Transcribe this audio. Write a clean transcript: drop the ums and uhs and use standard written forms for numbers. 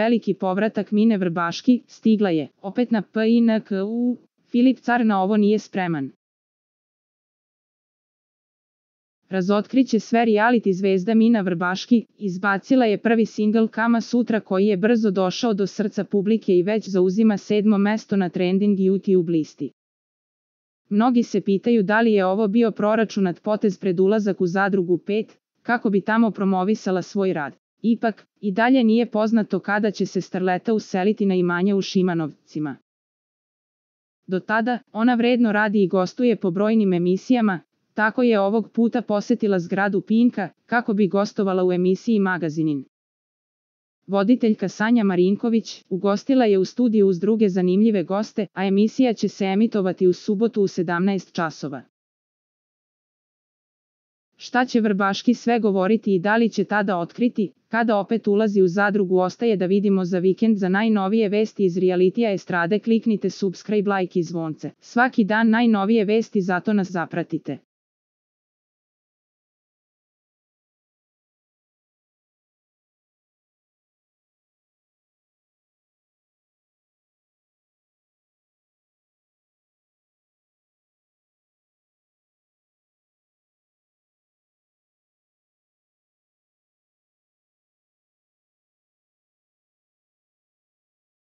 veliki povratak Mine Vrbaški, stigla je, opet na PINKU, Filip Car na ovo nije spreman. Razotkriće sve reality zvezda Mina Vrbaški, izbacila je prvi singl Kama Sutra koji je brzo došao do srca publike i već zauzima 7. mesto na trending YouTube listi. Mnogi se pitaju da li je ovo bio proračunat potez pred ulazak u Zadrugu 5, kako bi tamo promovisala svoj rad. Ipak, i dalje nije poznato kada će se starleta useliti na imanje u Šimanovcima. Do tada, ona vredno radi i gostuje po brojnim emisijama, tako je ovog puta posetila zgradu Pinka, kako bi gostovala u emisiji Magazinin. Voditeljka Sanja Marinković ugostila je u studiju uz druge zanimljive goste, a emisija će se emitovati u subotu u 17 časova. Šta će Vrbaški sve govoriti i da li će tada otkriti, kada opet ulazi u Zadrugu ostaje da vidimo. Za vikend. Za najnovije vesti iz realitija estrade kliknite subscribe, like i zvonce. Svaki dan najnovije vesti, zato nas zapratite.